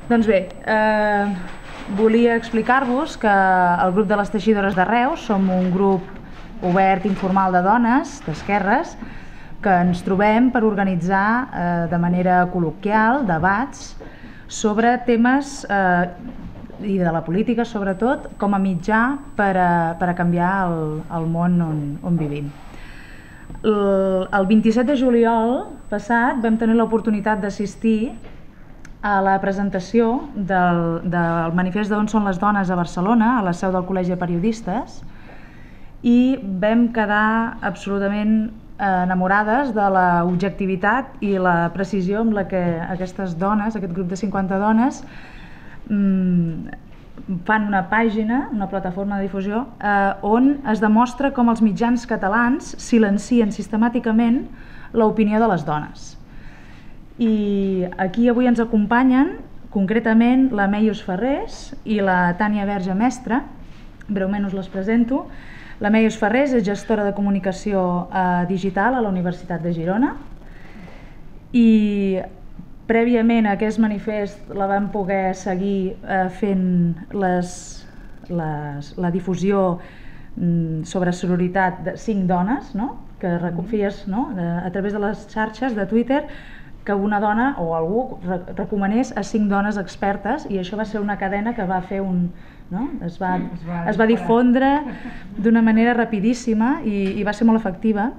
Doncs bé, volia explicar-vos que el grup de les Teixidores de Reus som un grup obert informal de dones, d'esquerres, que ens trobem per organitzar de manera col·loquial debats sobre temes i de la política sobretot com a mitjà per a canviar el món on vivim. El 27 de juliol passat vam tenir l'oportunitat d'assistir a la presentació del manifest d'On són les dones a Barcelona, a la seu del Col·legi de Periodistes, i vam quedar absolutament enamorades de l'objectivitat i la precisió amb la que aquestes dones, aquest grup de 50 dones, fan una pàgina, una plataforma de difusió, on es demostra com els mitjans catalans silencien sistemàticament l'opinió de les dones. I aquí avui ens acompanyen concretament la Meius Ferrés i la Tània Verge Mestre. Breument us les presento. La Meius Ferrés és gestora de comunicació digital a la Universitat de Girona i prèviament a aquest manifest la vam poder seguir fent la difusió sobre sororitat de 5 dones, que reconfies a través de les xarxes de Twitter que una dona o algú recomanés a 5 dones expertes, i això va ser una cadena que va fer es va difondre d'una manera rapidíssima i va ser molt efectiva,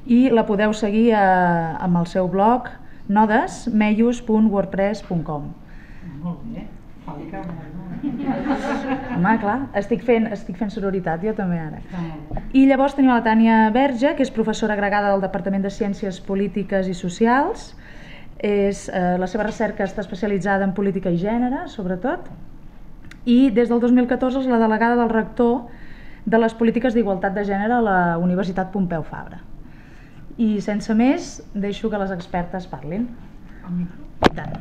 i la podeu seguir amb el seu blog nodesmeius.wordpress.com. Molt bé, home, clar, estic fent sororitat jo també ara. I llavors tenim la Tània Verge, que és professora agregada del Departament de Ciències Polítiques i Socials. La seva recerca està especialitzada en política i gènere, sobretot, i des del 2014 és la delegada del rector de les polítiques d'igualtat de gènere a la Universitat Pompeu Fabra. I sense més, deixo que les expertes parlin. I tant.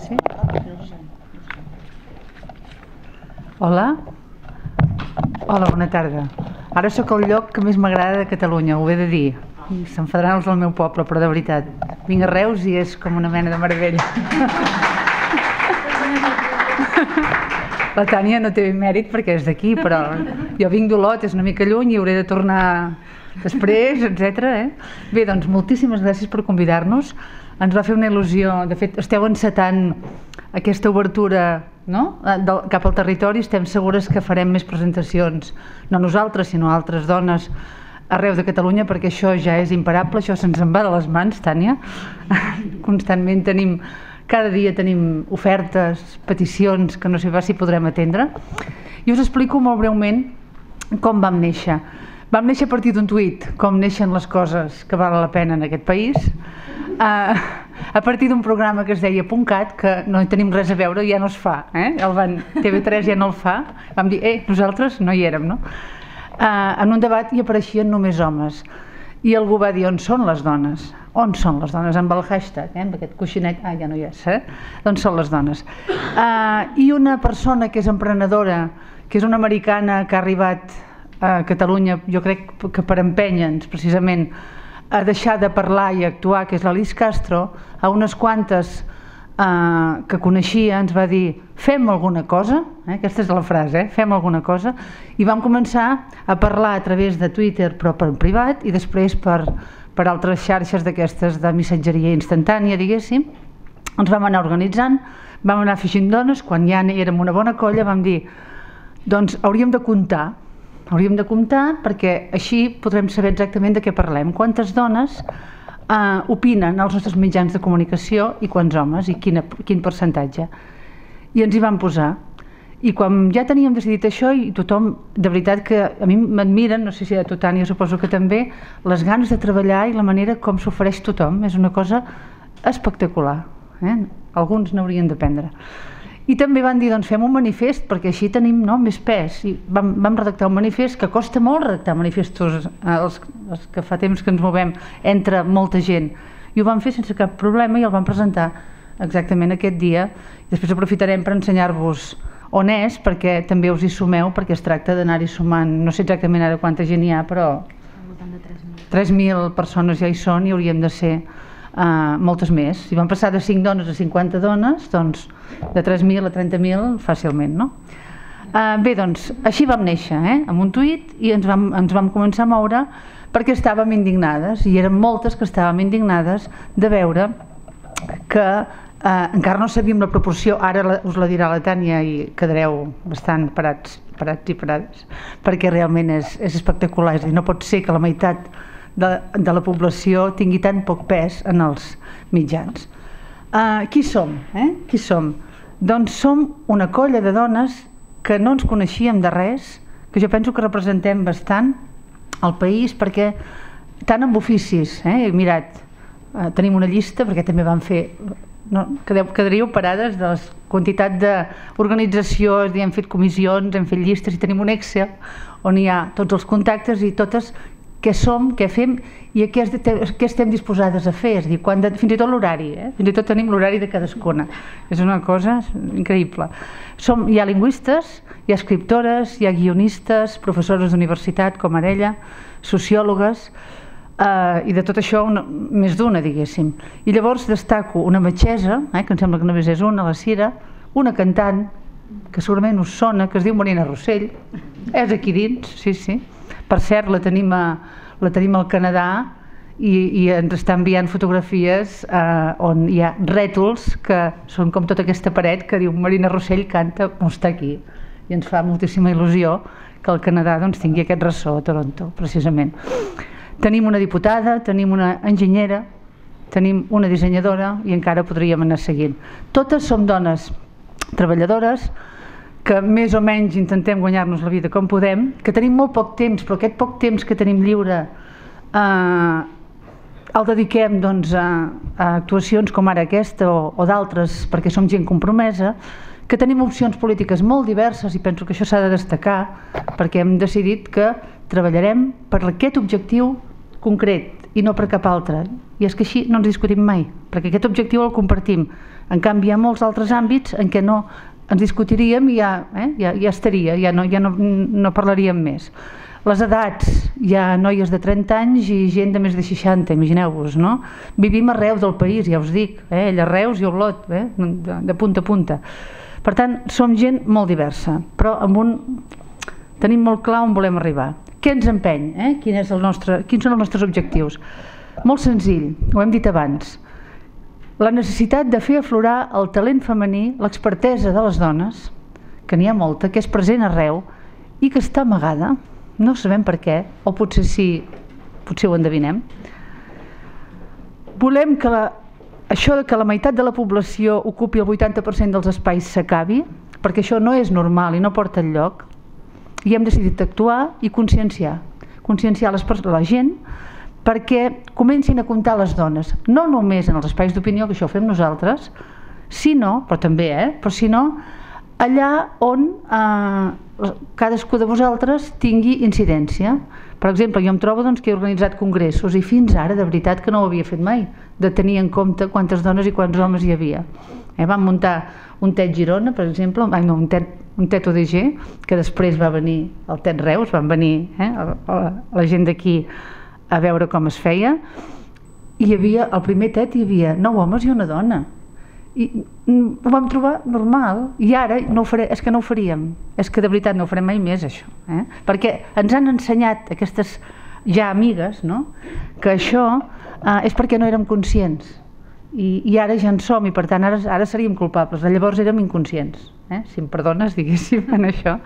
Sí? Hola. Hola, bona tarda. Ara sóc al lloc que més m'agrada de Catalunya, ho he de dir. S'enfadaran els del meu poble, però de veritat. Vinc a Reus i és com una mena de meravella. La Tània no té mèrit perquè és d'aquí, però jo vinc d'Olot, és una mica lluny i hauré de tornar després, etc. Bé, doncs moltíssimes gràcies per convidar-nos. Ens va fer una il·lusió, de fet esteu encetant aquesta obertura cap al territori, estem segures que farem més presentacions, no nosaltres sinó altres dones arreu de Catalunya, perquè això ja és imparable, això se'ns en va de les mans, Tània. Constantment cada dia tenim ofertes, peticions que no sé pas si podrem atendre. I us explico molt breument com vam néixer. Vam néixer a partir d'un tuit, com neixen les coses que valen la pena en aquest país, a partir d'un programa que es deia .cat, que no hi tenim res a veure, ja no es fa, TV3 ja no el fa, vam dir, nosaltres no hi érem, no? En un debat hi apareixien només homes, i algú va dir, on són les dones? On són les dones? Amb el hashtag, amb aquest coixinet, ja no hi és, doncs són les dones. I una persona que és emprenedora, que és una americana que ha arribat a Catalunya, jo crec que per empènyer-nos precisament a deixar de parlar i actuar, que és l'Alice Castro, a unes quantes que coneixia ens va dir, fem alguna cosa, aquesta és la frase, fem alguna cosa, i vam començar a parlar a través de Twitter, però per privat, i després per altres xarxes d'aquestes de missatgeria instantània, diguéssim. Ens vam anar organitzant, vam anar afegint dones, quan ja érem una bona colla vam dir, doncs hauríem de comptar perquè així podrem saber exactament de què parlem, quantes dones opinen als nostres mitjans de comunicació i quants homes i quin percentatge. I ens hi vam posar. I quan ja teníem decidit això, i tothom, de veritat que a mi m'admiren, no sé si a tu, Tània, suposo que també, les ganes de treballar i la manera com s'ofereix tothom, és una cosa espectacular. Alguns n'haurien d'aprendre. I també van dir, doncs fem un manifest, perquè així tenim més pes. I vam redactar un manifest, que costa molt redactar manifestos, els que fa temps que ens movem, entre molta gent. I ho vam fer sense cap problema i el vam presentar exactament aquest dia. Després aprofitarem per ensenyar-vos on és, perquè també us hi sumeu, perquè es tracta d'anar-hi sumant, no sé exactament ara quanta gent hi ha, però... Al voltant de 3.000. 3.000 persones ja hi són i hauríem de ser moltes més. Si vam passar de 5 dones a 50 dones, doncs de 3.000 a 30.000 fàcilment, no? Bé, doncs, així vam néixer, amb un tuit, i ens vam començar a moure perquè estàvem indignades, i eren moltes que estàvem indignades de veure que encara no sabíem la proporció, ara us la dirà la Tània i quedareu bastant parats i parades, perquè realment és espectacular, és a dir, no pot ser que la meitat de la població tingui tan poc pes en els mitjans. Qui som? Qui som? Doncs som una colla de dones que no ens coneixíem de res, que jo penso que representem bastant el país, perquè tant amb oficis, mirat, tenim una llista, perquè també vam fer, quedaríeu parades de la quantitat d'organitzacions, hem fet comissions, hem fet llistes, i tenim un Excel on hi ha tots els contactes i totes què som, què fem i què estem disposades a fer, és a dir, fins i tot l'horari, fins i tot tenim l'horari de cadascuna, és una cosa increïble. Hi ha lingüistes, hi ha escriptores, hi ha guionistes, professores d'universitat com ara ella, sociòlogues, i de tot això més d'una, diguéssim. I llavors destaco una metgessa, que em sembla que només és una, la Cira, una cantant, que segurament us sona, que es diu Marina Rossell, és aquí dins, sí. Per cert, la tenim al Canadà i ens està enviant fotografies on hi ha rètols que són com tota aquesta paret que diu Marina Rossell canta, està aquí. I ens fa moltíssima il·lusió que el Canadà tingui aquest ressò a Toronto, precisament. Tenim una diputada, tenim una enginyera, tenim una dissenyadora i encara podríem anar seguint. Totes som dones treballadores, que més o menys intentem guanyar-nos la vida com podem, que tenim molt poc temps, però aquest poc temps que tenim lliure el dediquem a actuacions com ara aquesta o d'altres, perquè som gent compromesa, que tenim opcions polítiques molt diverses i penso que això s'ha de destacar perquè hem decidit que treballarem per aquest objectiu concret i no per cap altre. I és que així no ens discutim mai, perquè aquest objectiu el compartim. En canvi, hi ha molts altres àmbits en què no ens discutiríem i ja estaria, ja no parlaríem més. Les edats, hi ha noies de 30 anys i gent de més de 60, imagineu-vos, no? Vivim arreu del país, ja us dic, ella a Reus i a Olot, de punta a punta. Per tant, som gent molt diversa, però tenim molt clar on volem arribar. Què ens empeny? Quins són els nostres objectius? Molt senzill, ho hem dit abans. La necessitat de fer aflorar el talent femení, l'expertesa de les dones, que n'hi ha molta, que és present arreu i que està amagada, no sabem per què, o potser sí, potser ho endevinem. Volem que això que la meitat de la població ocupi el 80% dels espais s'acabi, perquè això no és normal i no porta enlloc, i hem decidit actuar i conscienciar la gent perquè comencin a comptar les dones, no només en els espais d'opinió, que això ho fem nosaltres, sinó, però també, però sinó allà on cadascú de vosaltres tingui incidència. Per exemple, jo em trobo que he organitzat congressos i fins ara, de veritat, que no ho havia fet mai, de tenir en compte quantes dones i quants homes hi havia. Vam muntar un TED Girona, per exemple, un TED ODG, que després va venir el TED Reus, van venir la gent d'aquí a veure com es feia, i hi havia, al primer TED hi havia 9 homes i una dona, i ho vam trobar normal, i ara és que no ho faríem, és que de veritat no ho farem mai més això, perquè ens han ensenyat aquestes ja amigues que això és perquè no érem conscients, i ara ja en som, i per tant ara seríem culpables, llavors érem inconscients, si em perdones, diguéssim, en això.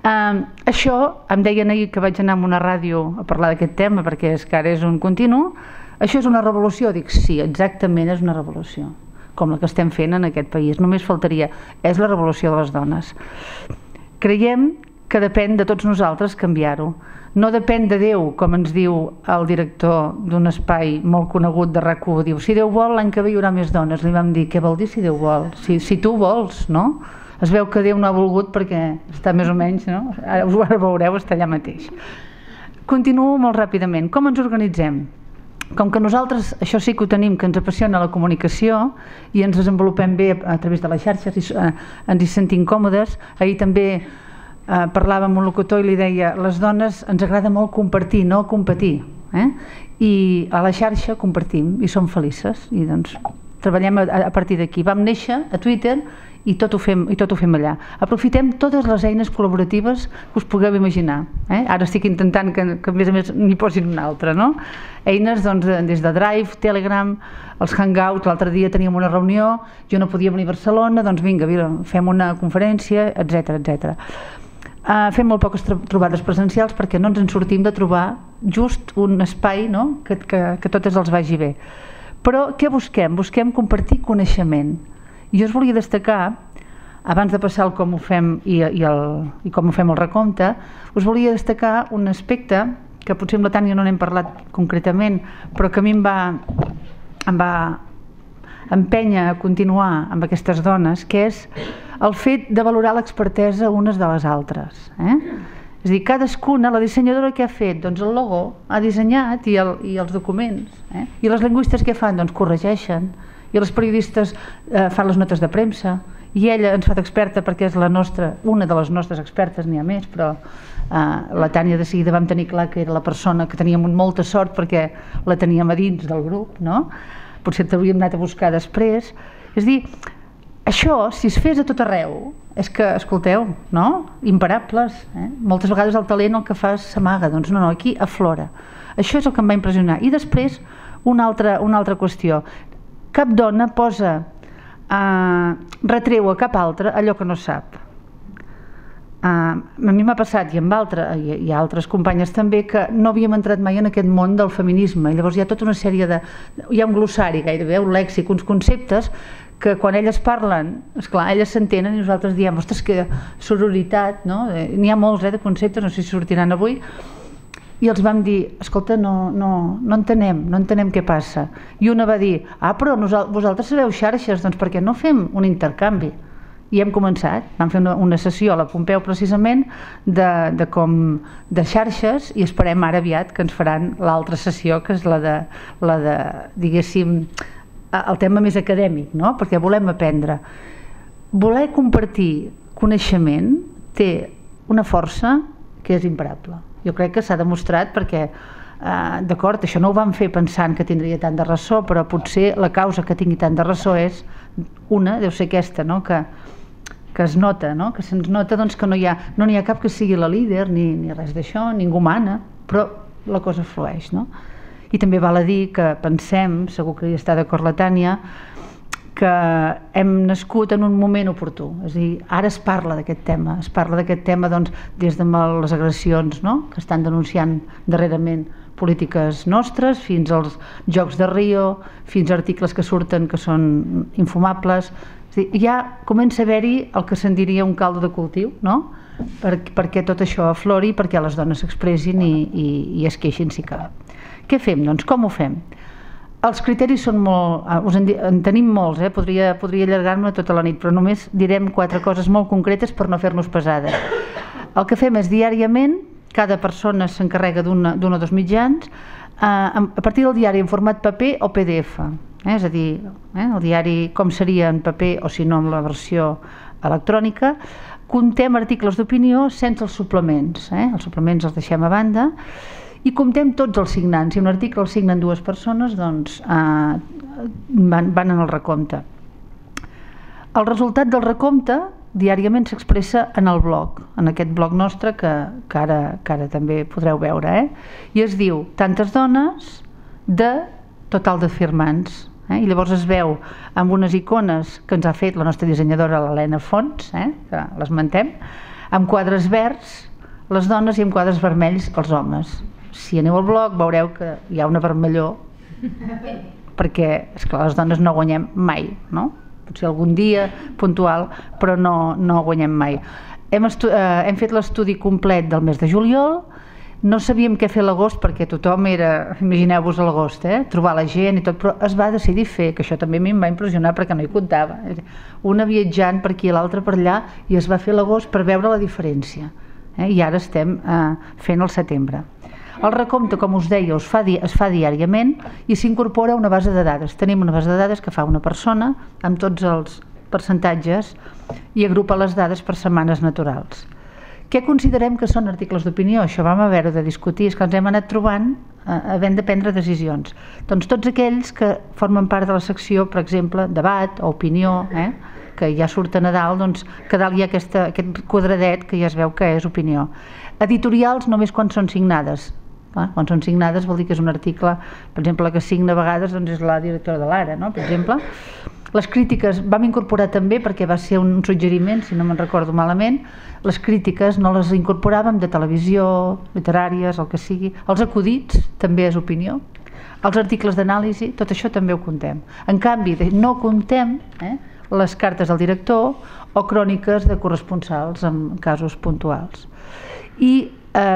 Això, em deien ahir que vaig anar a una ràdio a parlar d'aquest tema perquè és que ara és un continu, això és una revolució? Dic, sí, exactament és una revolució, com la que estem fent en aquest país, només faltaria, és la revolució de les dones. Creiem que depèn de tots nosaltres canviar-ho, no depèn de Déu, com ens diu el director d'un espai molt conegut de RAC1, diu, si Déu vol l'any que ve hi haurà més dones, li vam dir, què vol dir si Déu vol? Si tu vols, no? Es veu que Déu no ha volgut perquè està més o menys, no? Ara veureu, està allà mateix. Continuo molt ràpidament. Com ens organitzem? Com que nosaltres, això sí que ho tenim, que ens apassiona la comunicació i ens desenvolupem bé a través de les xarxes i ens hi sentim còmodes, ahir també parlava amb un locutor i li deia, les dones ens agrada molt compartir, no competir. I a la xarxa compartim i som felices i doncs treballem a partir d'aquí. Vam néixer a Twitter i tot ho fem allà. Aprofitem totes les eines col·laboratives que us pugueu imaginar. Ara estic intentant que a més n'hi posin una altra, no? Eines des de Drive, Telegram, els Hangouts. L'altre dia teníem una reunió, jo no podia venir a Barcelona, doncs vinga, fem una conferència, etc. Fem molt poques trobades presencials perquè no ens en sortim de trobar just un espai que totes els vagi bé. Però què busquem? Busquem compartir coneixement. Jo us volia destacar, abans de passar al com ho fem i com ho fem el recompte, us volia destacar un aspecte que potser amb la Tània no n'hem parlat concretament, però que a mi em va empènyer a continuar amb aquestes dones, que és el fet de valorar l'expertesa unes de les altres. És a dir, cadascuna, la dissenyadora que ha fet, doncs el logo ha dissenyat i els documents, i les lingüistes què fan? Doncs corregeixen, i les periodistes fan les notes de premsa, i ella ens fa d'experta perquè és una de les nostres expertes, n'hi ha més, però la Tània de seguida vam tenir clar que era la persona que teníem molta sort perquè la teníem a dins del grup, no? Potser t'hauríem anat a buscar després. És a dir, això, si es fes a tot arreu, és que, escolteu, no? Imparables. Moltes vegades el talent el que fa s'amaga, doncs no, aquí aflora. Això és el que em va impressionar. I després, una altra qüestió. Cap dona retreu a cap altra allò que no sap. A mi m'ha passat, i hi ha altres companyes també, que no havíem entrat mai en aquest món del feminisme, i llavors hi ha tota una sèrie hi ha un glossari gairebé, un lèxic, uns conceptes que quan elles parlen, esclar, elles s'entenen i nosaltres diem, ostres, que sororitat, no? N'hi ha molts de conceptes, no sé si sortiran avui, i els vam dir, escolta, no entenem què passa. I una va dir, però vosaltres sabeu xarxes, doncs per què no fem un intercanvi? I hem començat, vam fer una sessió a la Pompeu precisament de xarxes i esperem ara aviat que ens faran l'altra sessió, que és la de diguéssim, el tema més acadèmic, no? Perquè volem aprendre. Voler compartir coneixement té una força que és imparable. Jo crec que s'ha demostrat perquè, d'acord, això no ho vam fer pensant que tindria tant de ressò, però potser la causa que tingui tant de ressò és deu ser aquesta, que es nota, que se'ns nota que no n'hi ha cap que sigui la líder ni res d'això, ningú mana, però la cosa flueix. I també val a dir que pensem, segur que hi està d'acord la Tània, que hem nascut en un moment oportú. És a dir, ara es parla d'aquest tema, des de les agressions que estan denunciant darrerament polítiques nostres, fins als Jocs de Rio, fins a articles que surten que són infumables. És a dir, ja comença a haver-hi el que se'n diria un caldo de cultiu, perquè tot això aflori, perquè les dones s'expressin i es queixin si cal. Què fem? Doncs com ho fem? Els criteris són molt... en tenim molts, podria allargar-me tota la nit, però només direm 4 coses molt concretes per no fer-nos pesades. El que fem és diàriament, cada persona s'encarrega d'un o dos mitjans, a partir del diari en format paper o PDF. És a dir, el diari com seria en paper o si no en la versió electrònica. Contem articles d'opinió sense els suplements. Els suplements els deixem a banda. I comptem tots els signants. Si un article el signen 2 persones, doncs van en el recompte. El resultat del recompte diàriament s'expressa en el blog, en aquest blog nostre que ara també podreu veure. I es diu tantes dones de total de firmants. I llavors es veu amb unes icones que ens ha fet la nostra dissenyadora l'Helena Fons, que l'esmentem, amb quadres verds les dones i amb quadres vermells els homes. Si aneu al blog veureu que hi ha una vermellor perquè, esclar, les dones no guanyem mai, no? Potser algun dia puntual, però no guanyem mai. Hem fet l'estudi complet del mes de juliol. No sabíem què fer a l'agost perquè tothom era, imagineu-vos a l'agost, trobar la gent i tot, però es va decidir fer, que això també a mi em va impressionar perquè no hi comptava. Una viatjant per aquí i l'altra per allà i es va fer a l'agost per veure la diferència. I ara estem fent el setembre. El recompte, com us deia, es fa diàriament i s'incorpora una base de dades. Tenim una base de dades que fa una persona amb tots els percentatges i agrupa les dades per setmanes naturals. Què considerem que són articles d'opinió? Això vam haver de discutir, és que ens hem anat trobant havent de prendre decisions. Doncs tots aquells que formen part de la secció, per exemple, debat o opinió, que ja surten a dalt, doncs que a dalt hi ha aquest quadradet que ja es veu que és opinió. Editorials només quan són signades. Quan són signades vol dir que és un article, per exemple, la que signa a vegades doncs és la directora de l'Ara, no? Per exemple. Les crítiques vam incorporar també, perquè va ser un suggeriment, si no me'n recordo malament, les crítiques no les incorporàvem de televisió, literàries, el que sigui. Els acudits també és opinió. Els articles d'anàlisi, tot això també ho comptem. En canvi, no comptem les cartes del director o cròniques de corresponsals en casos puntuals. I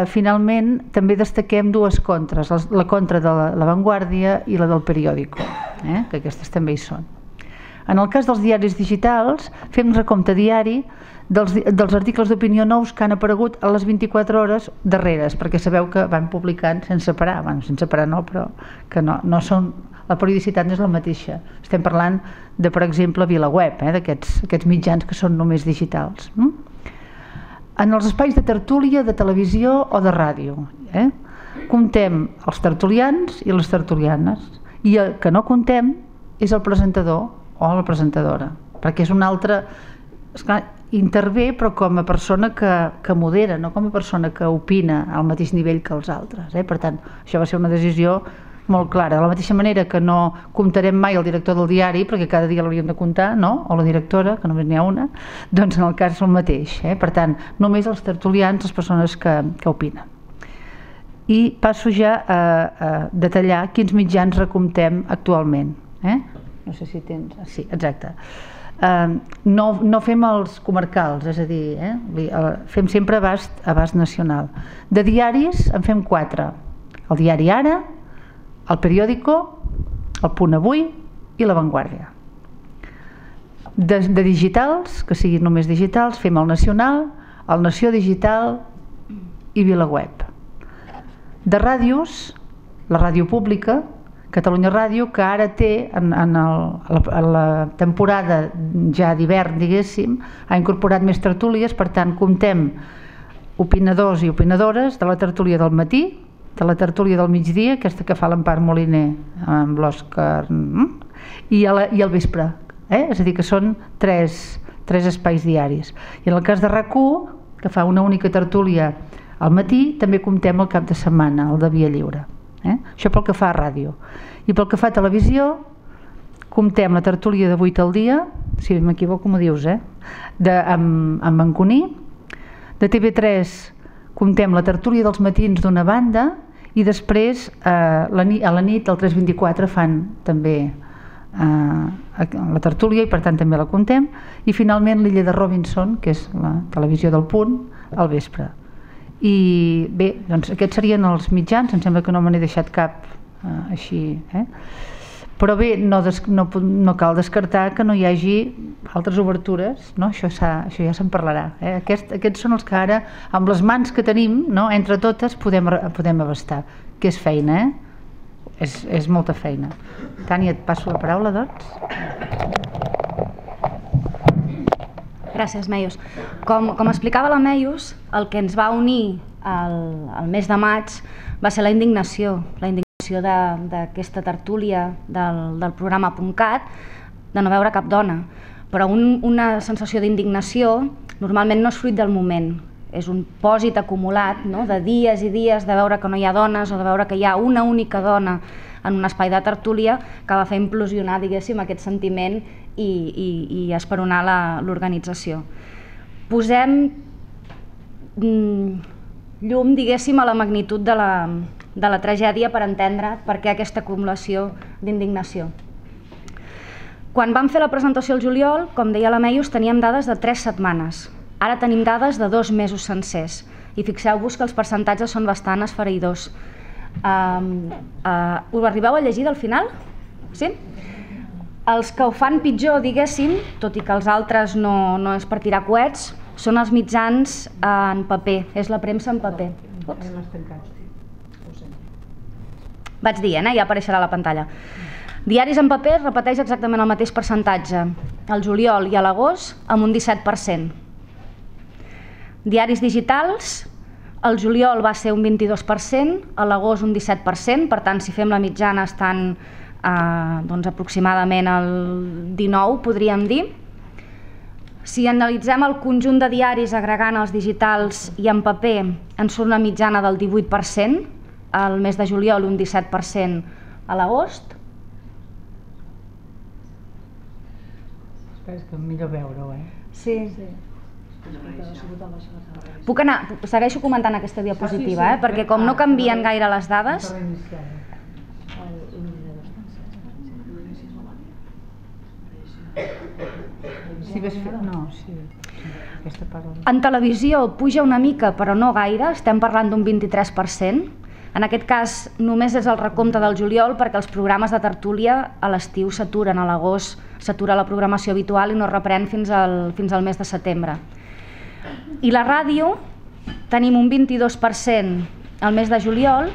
finalment també destaquem dues contres, la contra de La Vanguardia i la del Periódico, que aquestes també hi són. En el cas dels diaris digitals fem recompte diari dels articles d'opinió nous que han aparegut a les 24 hores darreres, perquè sabeu que van publicant sense parar, sense parar no, però que no són, la periodicitat no és la mateixa. Estem parlant de, per exemple, VilaWeb, d'aquests mitjans que són només digitals. En els espais de tertúlia, de televisió o de ràdio, comptem els tertulians i les tertulianes, i el que no comptem és el presentador o la presentadora, perquè és un altre, intervé però com a persona que modera, no com a persona que opina al mateix nivell que els altres. Per tant, això va ser una decisió molt clara, de la mateixa manera que no comptarem mai el director del diari, perquè cada dia l'hauríem de comptar, no? O la directora, que només n'hi ha una, doncs en el cas és el mateix. Per tant, només els tertulians, les persones que opinen. I passo ja a detallar quins mitjans recomptem actualment. No sé si tens... Sí, exacte. No fem els comarcals, és a dir, fem sempre abast nacional. De diaris en fem 4. El diari Ara, el Periódico, el Punt Avui i La Vanguardia. De digitals, que siguin només digitals, fem el Nacional, el Nació Digital i VilaWeb. De ràdios, la ràdio pública, Catalunya Ràdio, que ara té, en la temporada ja d'hivern, diguéssim, ha incorporat més tertúlies, per tant, comptem opinadors i opinadores de la tertúlia del matí, de la tertúlia del migdia, aquesta que fa l'Empar Moliner amb l'Òscar, i al vespre. És a dir, que són tres espais diaris. I en el cas de RAC1, que fa una única tertúlia al matí, també comptem el cap de setmana, el de Via Lliure. Això pel que fa a ràdio. I pel que fa a televisió, comptem la tertúlia de 8 al dia, si m'equivoco m'ho dius, amb Manconí. De TV3 comptem la tertúlia dels matins d'una banda i després a la nit, al 324, fan també la tertúlia i per tant també la comptem. I finalment l'Illa de Robinson, que és la televisió del Punt, al vespre. I bé, doncs aquests serien els mitjans, em sembla que no me n'he deixat cap així, però bé, no cal descartar que no hi hagi altres obertures, no? Això ja se'n parlarà. Aquests són els que ara, amb les mans que tenim, entre totes podem abastar, que és feina, és molta feina. Tània, et passo la paraula, doncs. Gràcies, Meius. Com explicava la Meius, el que ens va unir al mes de maig va ser la indignació d'aquesta tertúlia del programa .cat, de no veure cap dona. Però una sensació d'indignació normalment no és fruit del moment, és un pòsit acumulat de dies i dies de veure que no hi ha dones o de veure que hi ha una única dona en un espai de tertúlia que va fer implosionar, diguéssim, aquest sentiment i esperonar l'organització. Posem llum, diguéssim, a la magnitud de la tragèdia per entendre per què aquesta acumulació d'indignació. Quan vam fer la presentació al juliol, com deia la Meius, teníem dades de 3 setmanes. Ara tenim dades de 2 mesos sencers. I fixeu-vos que els percentatges són bastant esfereïdors. Ho arribeu a llegir del final? Sí? Els que ho fan pitjor, diguéssim, tot i que els altres no és per tirar coets, són els mitjans en paper, és la premsa en paper. Vaig dir, ja apareixerà a la pantalla. Diaris en paper repeteix exactament el mateix percentatge, al juliol i a l'agost amb un 17%. Diaris digitals, el juliol va ser un 22%, a l'agost un 17%, per tant, si fem la mitjana estan aproximadament el 19%, podríem dir. Si analitzem el conjunt de diaris agregant els digitals i en paper, ens surt una mitjana del 18%, al mes de juliol un 17% a l'agost. Espera, és que millor veure-ho, Sí. Puc anar, segueixo comentant aquesta diapositiva, perquè com no canvien gaire les dades... En televisió puja una mica, però no gaire, estem parlant d'un 23%. En aquest cas només és el recompte del juliol perquè els programes de tertúlia a l'estiu s'aturen, a l'agost s'atura la programació habitual i no reprèn fins al mes de setembre. I la ràdio tenim un 22% al mes de juliol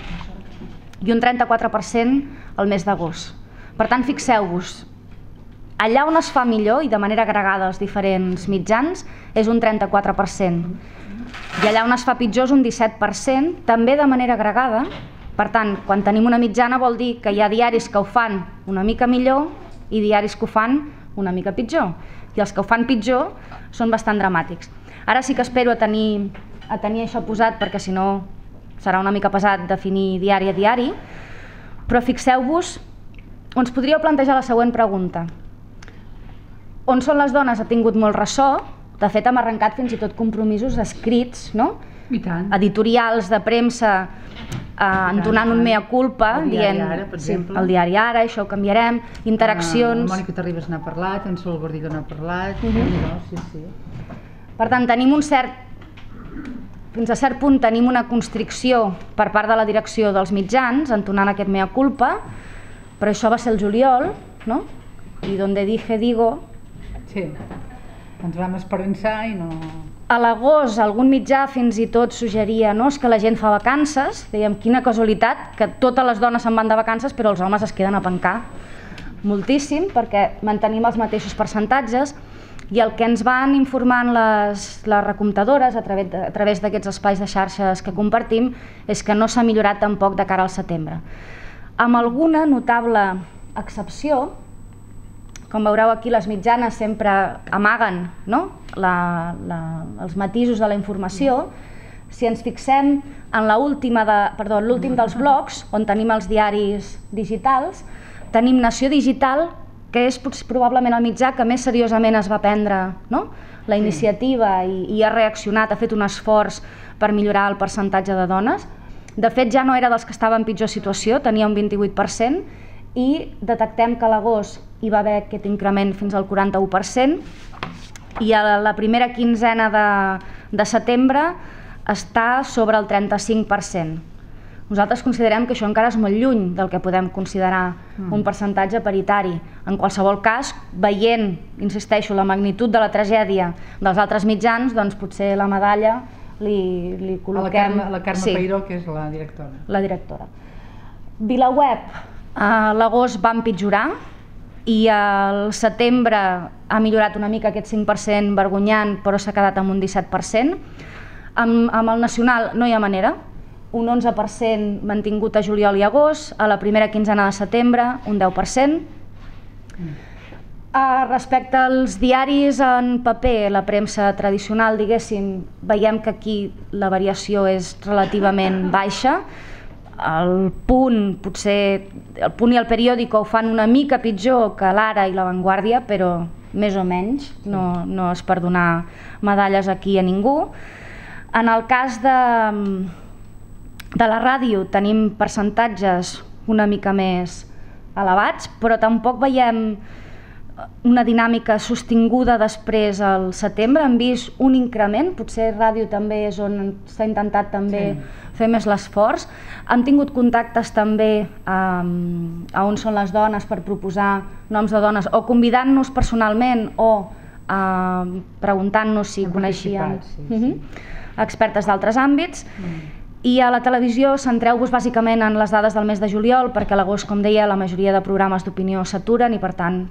i un 34% al mes d'agost. Per tant, fixeu-vos, allà on es fa millor i de manera agregada als diferents mitjans és un 34%. I allà on es fa pitjor és un 17%, també de manera agregada. Per tant, quan tenim una mitjana vol dir que hi ha diaris que ho fan una mica millor i diaris que ho fan una mica pitjor. I els que ho fan pitjor són bastant dramàtics. Ara sí que espero a tenir això posat, perquè si no serà una mica pesat definir diari a diari, però fixeu-vos, ens podríeu plantejar la següent pregunta. On són les dones ha tingut molt ressò, de fet hem arrencat fins i tot compromisos escrits, no? I tant. Editorials de premsa entonant un mea culpa, dient el diari Ara, això ho canviarem, interaccions... La Mònica Terribas n'ha parlat, en Sol Gordillo n'ha parlat... Per tant, tenim fins a cert punt tenim una constricció per part de la direcció dels mitjans, entonant aquest mea culpa, però això va ser el juliol, no? I donde dije digo... Sí, ens vam esperançar i no... A l'agost algun mitjà fins i tot suggeria que la gent fa vacances, dèiem quina casualitat, que totes les dones se'n van de vacances però els homes es queden a pencar moltíssim perquè mantenim els mateixos percentatges i el que ens van informant les recomptadores a través d'aquests espais de xarxes que compartim és que no s'ha millorat tampoc de cara al setembre. Amb alguna notable excepció, com veureu aquí les mitjanes sempre amaguen els matisos de la informació. Si ens fixem en l'últim dels blocs, on tenim els diaris digitals, tenim Nació Digital, que és probablement el mitjà que més seriosament es va prendre la iniciativa i ha reaccionat, ha fet un esforç per millorar el percentatge de dones. De fet, ja no era dels que estaven en pitjor situació, tenia un 28%, i detectem que a l'agost hi va haver aquest increment fins al 41%, i a la primera quinzena de setembre està sobre el 35%. Nosaltres considerem que això encara és molt lluny del que podem considerar un percentatge paritari. En qualsevol cas, veient, insisteixo, la magnitud de la tragèdia dels altres mitjans, doncs potser la medalla li col·loquem... A la Carme Peiró, que és la directora. La directora. VilaWeb, a l'agost va empitjorar i al setembre ha millorat una mica aquest 5% vergonyant, però s'ha quedat amb un 17%. Amb el nacional no hi ha manera, un 11% mantingut a juliol i agost, a la primera quinzena de setembre un 10%. Respecte als diaris en paper, la premsa tradicional, diguéssim, veiem que aquí la variació és relativament baixa. El Punt i el Periódico ho fan una mica pitjor que l'Ara i la Vanguardia, però més o menys, no és per donar medalles aquí a ningú. En el cas de la ràdio tenim percentatges una mica més elevats, però tampoc veiem una dinàmica sostinguda després al setembre. Hem vist un increment, potser ràdio també és on s'ha intentat també fer més l'esforç. Hem tingut contactes també a On són les dones per proposar noms de dones, o convidant-nos personalment o preguntant-nos si coneixien expertes d'altres àmbits. I a la televisió centreu-vos bàsicament en les dades del mes de juliol, perquè a l'agost, com deia, la majoria de programes d'opinió s'aturen i per tant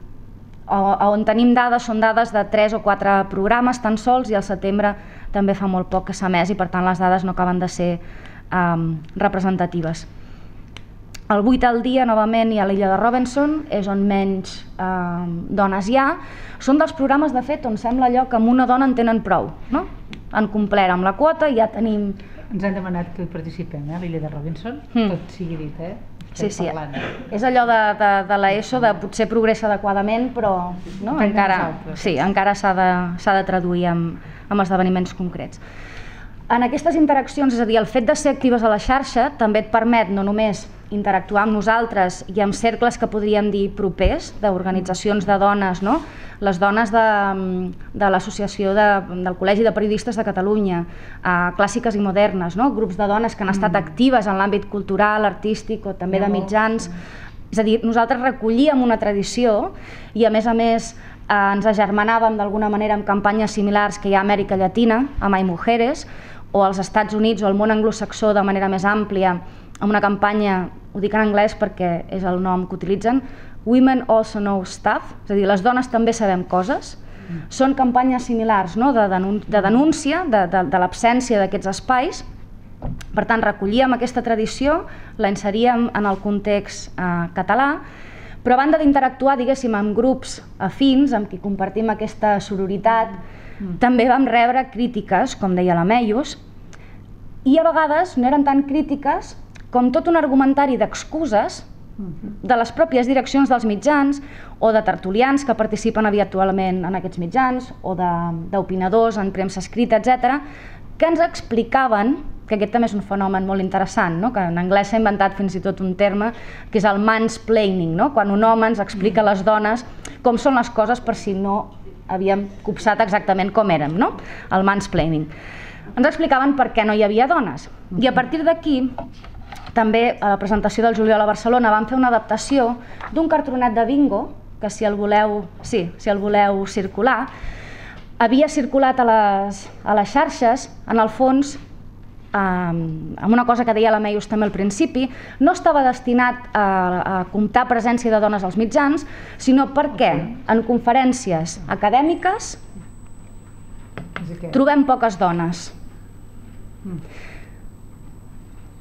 on tenim dades són dades de 3 o 4 programes tan sols, i al setembre també fa molt poc que s'ha emès, i per tant les dades no acaben de ser representatives. El 8 al dia, novament, i a l'illa de Robinson, és on menys dones hi ha. Són dels programes, de fet, on sembla allò que amb una dona en tenen prou, no? Han complert amb la quota i ja tenim... Ens han demanat que hi participem, a l'illa de Robinson, tot sigui dit, Sí, és allò de l'ESO, de potser progressa adequadament, però encara s'ha de traduir amb esdeveniments concrets. En aquestes interaccions, és a dir, el fet de ser actives a la xarxa també et permet no només interactuar amb nosaltres i amb cercles que podríem dir propers, d'organitzacions de dones, les dones de l'Associació del Col·legi de Periodistes de Catalunya, clàssiques i modernes, grups de dones que han estat actives en l'àmbit cultural, artístic o també de mitjans. És a dir, nosaltres recollíem una tradició i a més ens agermanàvem d'alguna manera amb campanyes similars que hi ha a Amèrica Llatina, amb Hay Mujeres, o als Estats Units o al món anglosaxó de manera més àmplia, amb una campanya, ho dic en anglès perquè és el nom que utilitzen, Women Also Know Stuff, és a dir, les dones també sabem coses. Són campanyes similars de denúncia de l'absència d'aquests espais. Per tant, recollíem aquesta tradició, la inseríem en el context català, però a banda d'interactuar, diguéssim, amb grups afins, amb qui compartim aquesta sororitat, també vam rebre crítiques, com deia la Meius, i a vegades no eren tan crítiques com tot un argumentari d'excuses de les pròpies direccions dels mitjans o de tertulians que participen habitualment en aquests mitjans o d'opinadors en premsa escrita, etc., que ens explicaven, que aquest també és un fenomen molt interessant, que en anglès s'ha inventat fins i tot un terme que és el mansplaining, quan un home ens explica a les dones com són les coses per si no havíem copsat exactament com érem, el mansplaining. Ens explicaven per què no hi havia dones. I a partir d'aquí, també a la presentació del juliol a Barcelona vam fer una adaptació d'un cartronet de bingo, que si el voleu circular, havia circulat a les xarxes, en el fons, amb una cosa que deia la Meius també al principi, no estava destinat a comptar presència de dones als mitjans, sinó perquè en conferències acadèmiques trobem poques dones.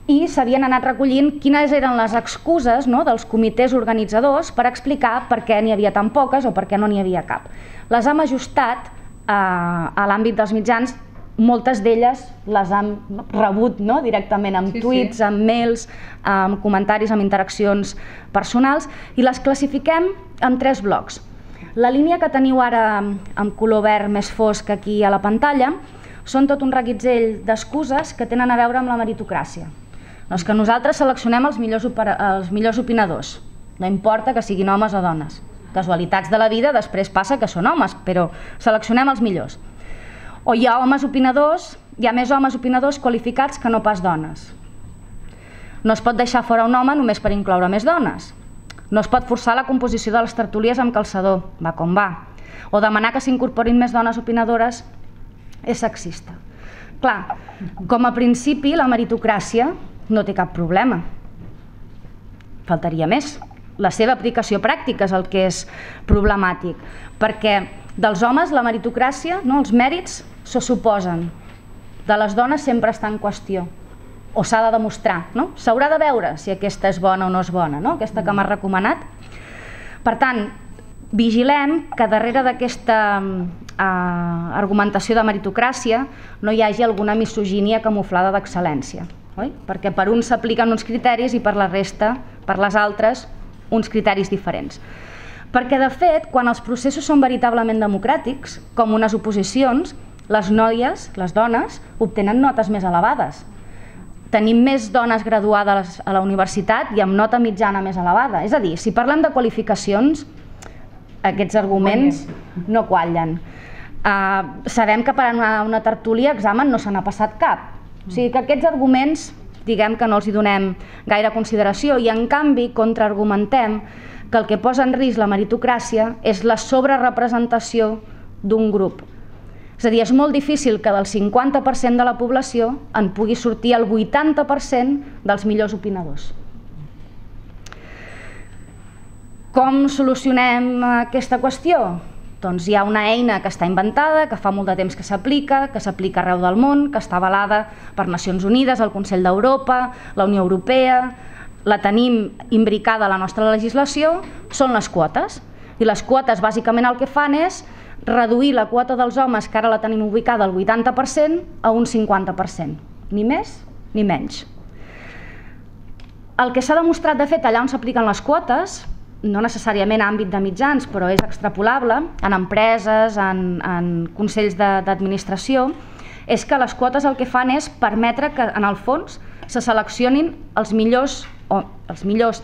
I s'havien anat recollint quines eren les excuses dels comitès organitzadors per explicar per què n'hi havia tan poques o per què no n'hi havia cap. Les hem ajustat a l'àmbit dels mitjans. Moltes d'elles les hem rebut directament amb tuits, amb mails, amb comentaris, amb interaccions personals, i les classifiquem en 3 blocs. La línia que teniu ara amb color verd més fosc aquí a la pantalla són tot un reguitzell d'excuses que tenen a veure amb la meritocràcia. És que nosaltres seleccionem els millors opinadors, no importa que siguin homes o dones. Casualitats de la vida, després passa que són homes, però seleccionem els millors. O hi ha homes opinadors, hi ha més homes opinadors qualificats que no pas dones. No es pot deixar fora un home només per incloure més dones. No es pot forçar la composició de les tertúlies amb calçador, va com va. O demanar que s'incorporin més dones opinadores és sexista. Clar, com a principi la meritocràcia no té cap problema. Faltaria més. La seva aplicació pràctica és el que és problemàtic, perquè dels homes la meritocràcia, els mèrits, se suposen. De les dones sempre està en qüestió, o s'ha de demostrar. S'haurà de veure si aquesta és bona o no és bona, aquesta que m'ha recomanat. Per tant, vigilem que darrere d'aquesta argumentació de meritocràcia no hi hagi alguna misogínia camuflada d'excel·lència, perquè per uns s'apliquen uns criteris i per la resta, per les altres, uns criteris diferents. Perquè, de fet, quan els processos són veritablement democràtics, com unes oposicions, les noies, les dones, obtenen notes més elevades. Tenim més dones graduades a la universitat i amb nota mitjana més elevada. És a dir, si parlem de qualificacions, aquests arguments no quallen. Sabem que per a una tertúlia examen no se n'ha passat cap. O sigui que aquests arguments, diguem que no els hi donem gaire consideració i, en canvi, contraargumentem que el que posa en risc la meritocràcia és la sobrerepresentació d'un grup. És a dir, és molt difícil que del 50% de la població en pugui sortir el 80% dels millors opinadors. Com solucionem aquesta qüestió? Doncs hi ha una eina que està inventada, que fa molt de temps que s'aplica arreu del món, que està avalada per Nacions Unides, el Consell d'Europa, la Unió Europea, la tenim imbricada a la nostra legislació, són les quotes. I les quotes bàsicament el que fan és reduir la quota dels homes, que ara la tenim ubicada al 80%, a un 50%, ni més ni menys. El que s'ha demostrat de fet allà on s'apliquen les quotes, no necessàriament a àmbit de mitjans, però és extrapolable, en empreses, en consells d'administració, és que les quotes el que fan és permetre que, en el fons, se seleccionin els millors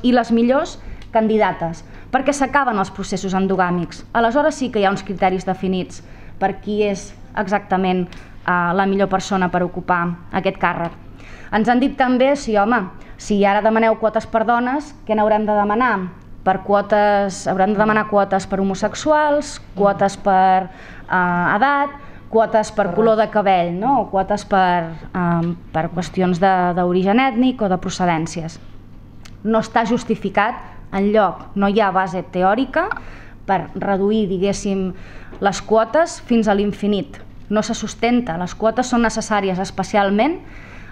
i les millors candidates, perquè s'acaben els processos endogàmics. Aleshores sí que hi ha uns criteris definits per qui és exactament la millor persona per ocupar aquest càrrec. Ens han dit també, sí home, si ara demaneu quotes per dones, què n'haurem de demanar? Haurem de demanar quotes per homosexuals, quotes per edat, quotes per color de cabell, o quotes per qüestions d'origen ètnic o de procedències. No està justificat enlloc, no hi ha base teòrica per reduir, diguéssim, les quotes fins a l'infinit. No se sustenta, les quotes són necessàries especialment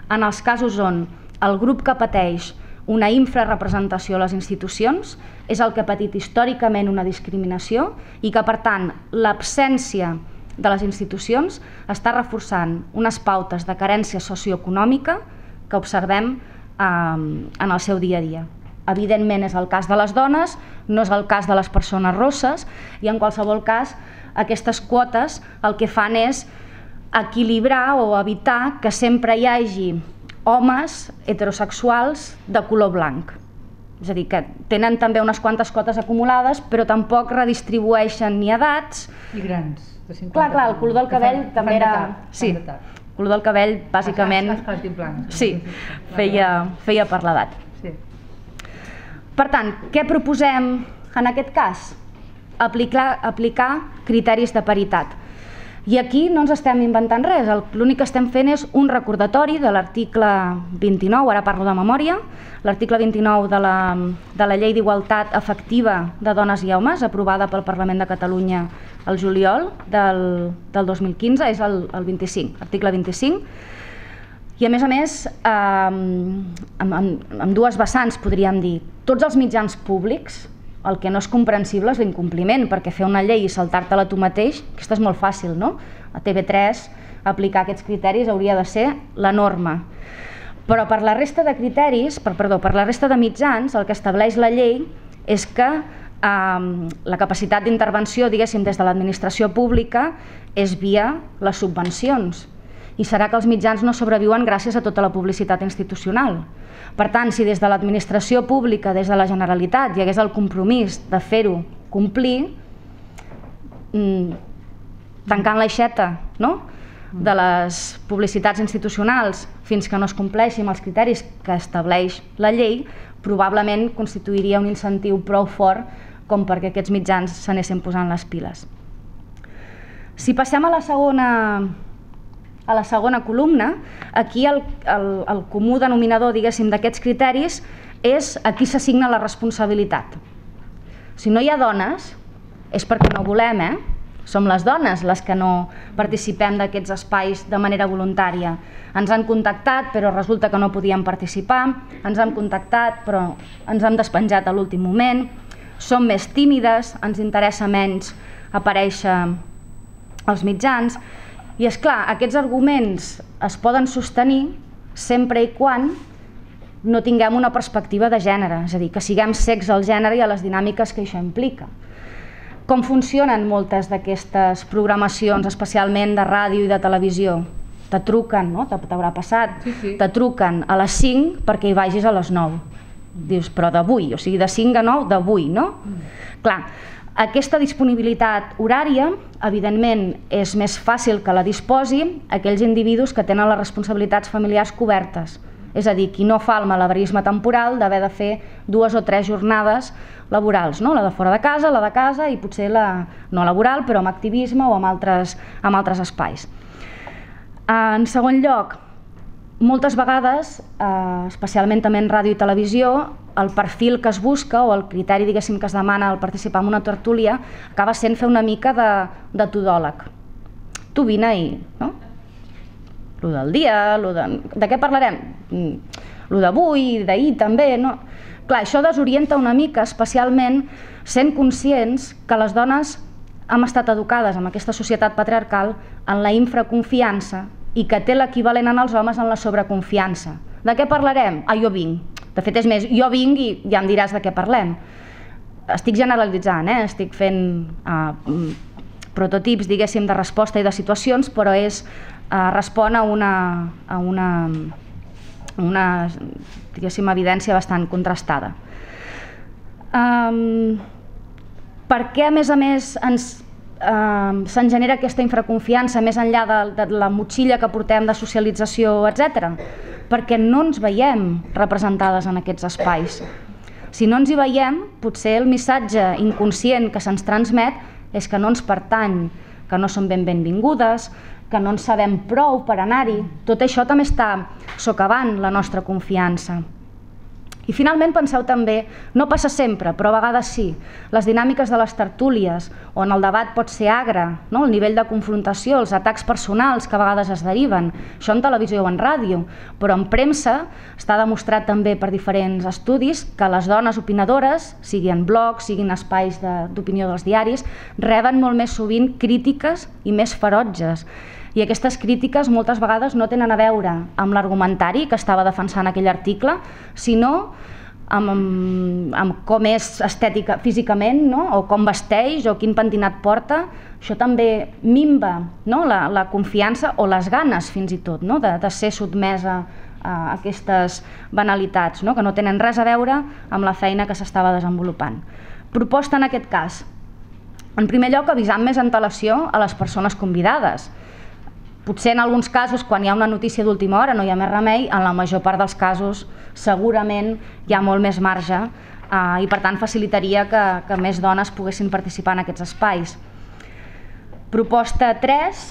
en els casos on el grup que pateix una infrarrepresentació a les institucions és el que ha patit històricament una discriminació i que, per tant, l'absència de les institucions està reforçant unes pautes de carència socioeconòmica que observem en el seu dia a dia. Evidentment és el cas de les dones, no és el cas de les persones rosses i en qualsevol cas aquestes quotes el que fan és equilibrar o evitar que sempre hi hagi homes heterosexuals de color blanc. És a dir, que tenen també unes quantes quotes acumulades, però tampoc redistribueixen ni edats. I grans, de 50. Clar, el color del cabell també era... Sí, el color del cabell, bàsicament... Sí, feia per l'edat. Per tant, què proposem en aquest cas? Aplicar criteris de paritat. I aquí no ens estem inventant res, l'únic que estem fent és un recordatori de l'article 29, ara parlo de memòria, l'article 29 de la Llei d'Igualtat Efectiva de Dones i Homes, aprovada pel Parlament de Catalunya el juliol del 2015, és el 25, article 25, i a més, amb dues vessants podríem dir, tots els mitjans públics, el que no és comprensible és l'incompliment, perquè fer una llei i saltar-te-la tu mateix, aquesta és molt fàcil, no? A TV3 aplicar aquests criteris hauria de ser la norma. Però per la resta de criteris, per la resta de mitjans, el que estableix la llei és que la capacitat d'intervenció, diguéssim, des de l'administració pública és via les subvencions. I serà que els mitjans no sobreviuen gràcies a tota la publicitat institucional. Per tant, si des de l'administració pública, des de la Generalitat, hi hagués el compromís de fer-ho complir, tancant l'aixeta de les publicitats institucionals fins que no es compleixin els criteris que estableix la llei, probablement constituiria un incentiu prou fort com perquè aquests mitjans s'anessin posant les piles. Si passem a la segona columna, aquí el comú denominador, diguéssim, d'aquests criteris és a qui s'assigna la responsabilitat. Si no hi ha dones, és perquè no volem, Som les dones les que no participem d'aquests espais de manera voluntària. Ens han contactat, però resulta que no podíem participar, ens han contactat, però ens hem despenjat a l'últim moment, som més tímides, ens interessa menys aparèixer als mitjans. I és clar, aquests arguments es poden sostenir sempre i quan no tinguem una perspectiva de gènere, és a dir, que siguem cecs al gènere i a les dinàmiques que això implica. Com funcionen moltes d'aquestes programacions, especialment de ràdio i de televisió? Te truquen, no? T'haurà passat, te truquen a les 5 perquè hi vagis a les 9. Dius, però d'avui, o sigui, de 5 a 9 d'avui, no? Clar, aquesta disponibilitat horària, evidentment, és més fàcil que la disposi aquells individus que tenen les responsabilitats familiars cobertes. És a dir, qui no fa el malabarisme temporal d'haver de fer 2 o 3 jornades laborals, la de fora de casa i potser la no laboral, però amb activisme o amb altres espais. En segon lloc, moltes vegades, especialment també en ràdio i televisió, el perfil que es busca o el criteri, diguéssim, que es demana al participar en una tertúlia acaba sent fer una mica de todòleg. Tu vine i... no? Lo del dia, de què parlarem? Lo d'avui, d'ahir també, no? Clar, això desorienta una mica, especialment sent conscients que les dones hem estat educades en aquesta societat patriarcal en la infraconfiança i que té l'equivalent en els homes en la sobreconfiança. De què parlarem? Jo vinc. De fet, és més, jo vinc i ja em diràs de què parlem. Estic generalitzant, estic fent prototips, diguéssim, de resposta i de situacions, però respon a una diguéssim, evidència bastant contrastada. Per què, a més, se'n genera aquesta infraconfiança més enllà de la motxilla que portem de socialització, etc? Perquè no ens veiem representades en aquests espais. Si no ens hi veiem, potser el missatge inconscient que se'ns transmet és que no ens pertany, que no som benvingudes, que no en sabem prou per anar-hi. Tot això també està socavant la nostra confiança. I finalment penseu també, no passa sempre, però a vegades sí, les dinàmiques de les tertúlies, on el debat pot ser agre, el nivell de confrontació, els atacs personals que a vegades es deriven, això en televisió o en ràdio, però en premsa està demostrat també per diferents estudis que les dones opinadores, sigui en blogs, siguin espais d'opinió dels diaris, reben molt més sovint crítiques i més ferotges. I aquestes crítiques moltes vegades no tenen a veure amb l'argumentari que estava defensant aquell article, sinó amb com és estètica físicament, o com vesteix o quin pentinat porta. Això també minva la confiança o les ganes fins i tot de ser sotmesa a aquestes banalitats que no tenen res a veure amb la feina que s'estava desenvolupant. Proposta en aquest cas. En primer lloc, avisar amb més antelació a les persones convidades. Potser en alguns casos, quan hi ha una notícia d'última hora, no hi ha més remei, en la major part dels casos segurament hi ha molt més marge i per tant facilitaria que més dones poguessin participar en aquests espais. Proposta 3.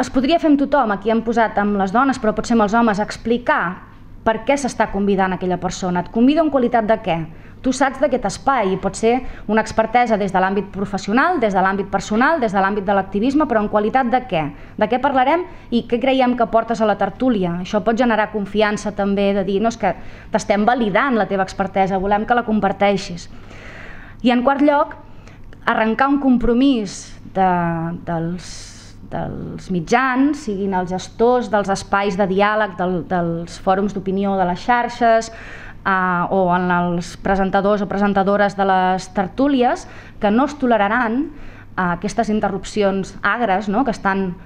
Es podria fer amb tothom, aquí hem posat amb les dones, però potser amb els homes, explicar per què s'està convidant aquella persona. Et convido en qualitat de què? Tu saps d'aquest espai i pot ser una expertesa des de l'àmbit professional, des de l'àmbit personal, des de l'àmbit de l'activisme, però en qualitat de què? De què parlarem i què creiem que portes a la tertúlia? Això pot generar confiança també, de dir, no, és que t'estem validant la teva expertesa, volem que la comparteixis. I en quart lloc, arrencar un compromís dels mitjans, siguin els gestors dels espais de diàleg, dels fòrums d'opinió de les xarxes, o en els presentadors o presentadores de les tertúlies, que no es toleraran aquestes interrupcions agres que estan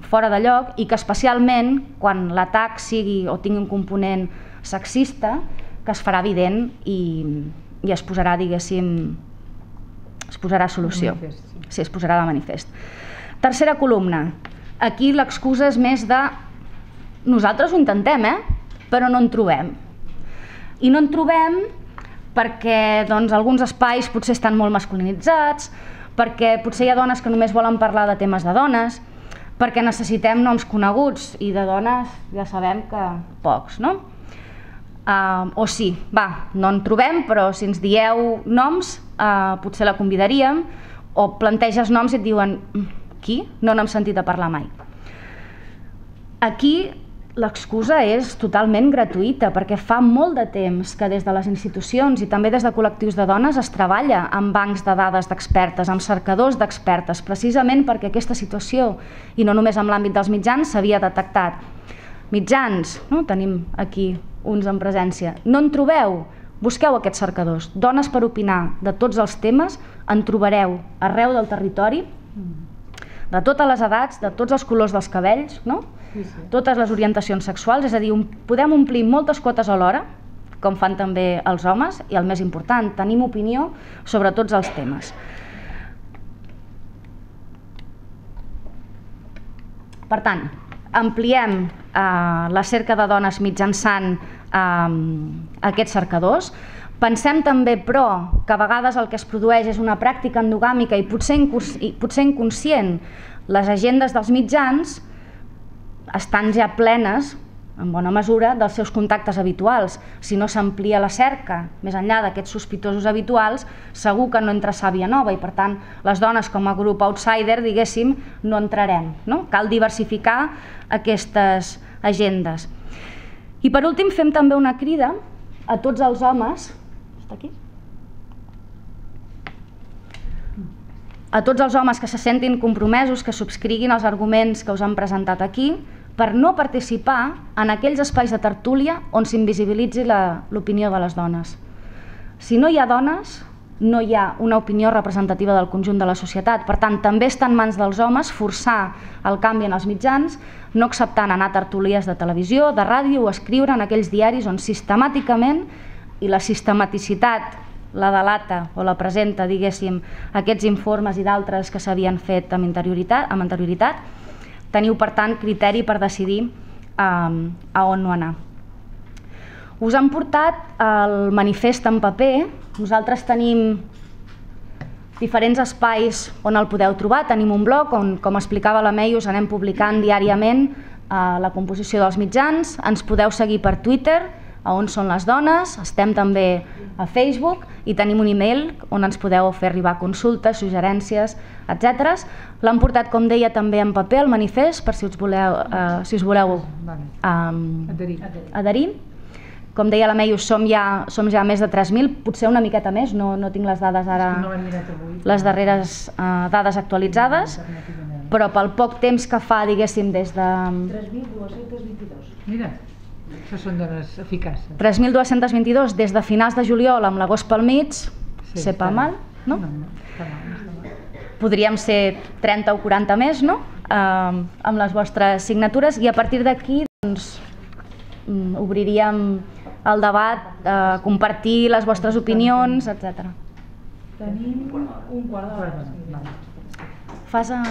fora de lloc i que especialment quan l'atac sigui o tingui un component sexista, que es farà evident i es posarà, diguéssim, es posarà solució. Sí, es posarà de manifest. Tercera columna. Aquí l'excusa és més de nosaltres ho intentem, però no en trobem. I no en trobem perquè alguns espais potser estan molt masculinitzats, perquè potser hi ha dones que només volen parlar de temes de dones, perquè necessitem noms coneguts i de dones ja sabem que pocs, no? O sí, no en trobem, però si ens dieu noms potser la convidaríem, o planteges noms i et diuen qui? No n'hem sentit a parlar mai. Aquí l'excusa és totalment gratuïta perquè fa molt de temps que des de les institucions i també des de col·lectius de dones es treballa amb bancs de dades d'expertes, amb cercadors d'expertes, precisament perquè aquesta situació, i no només en l'àmbit dels mitjans, s'havia detectat. Mitjans, tenim aquí uns en presència, no en trobeu? Busqueu aquests cercadors. Dones per opinar de tots els temes en trobareu arreu del territori, de totes les edats, de tots els colors dels cabells, totes les orientacions sexuals, és a dir, podem omplir moltes quotes alhora, com fan també els homes, i el més important, tenim opinió sobre tots els temes. Per tant, ampliem la cerca de dones mitjançant aquests cercadors. Pensem també, però, que a vegades el que es produeix és una pràctica endogàmica i potser inconscient. Les agendes dels mitjans estan ja plenes, en bona mesura, dels seus contactes habituals. Si no s'amplia la cerca més enllà d'aquests sospitosos habituals, segur que no entra sàvia nova i, per tant, les dones com a grup outsider, diguéssim, no entrarem. Cal diversificar aquestes agendes. I, per últim, fem també una crida a tots els homes... Està aquí? A tots els homes que se sentin compromesos, que subscriguin els arguments que us han presentat aquí, per no participar en aquells espais de tertúlia on s'invisibilitzi l'opinió de les dones. Si no hi ha dones, no hi ha una opinió representativa del conjunt de la societat. Per tant, també està en mans dels homes forçar el canvi en els mitjans, no acceptant anar a tertúlies de televisió, de ràdio o escriure en aquells diaris on sistemàticament, i la sistematicitat la delata o la presenta, diguéssim, aquests informes i d'altres que s'havien fet amb anterioritat, teniu, per tant, criteri per decidir a on no anar. Us han portat el manifest en paper. Nosaltres tenim diferents espais on el podeu trobar. Tenim un blog on, com explicava la Mei, us anem publicant diàriament la composició dels mitjans. Ens podeu seguir per Twitter, a On Són les Dones, estem també a Facebook i tenim un email on ens podeu fer arribar consultes, suggerències, etc. L'han portat, com deia, també en paper, el manifest, per si us voleu adherir. Com deia la Mei, som ja més de 3.000, potser una miqueta més, no tinc les dades ara, les darreres dades actualitzades, però pel poc temps que fa, diguéssim, des de... 3.222. Mira. Això són dones eficaces. 3.222 des de finals de juliol amb l'agost pel mig, sé pas mal, no? Podríem ser 30 o 40 més, no? Amb les vostres signatures, i a partir d'aquí obriríem el debat, compartir les vostres opinions, etc. Tenim un quart d'hora. Fas a...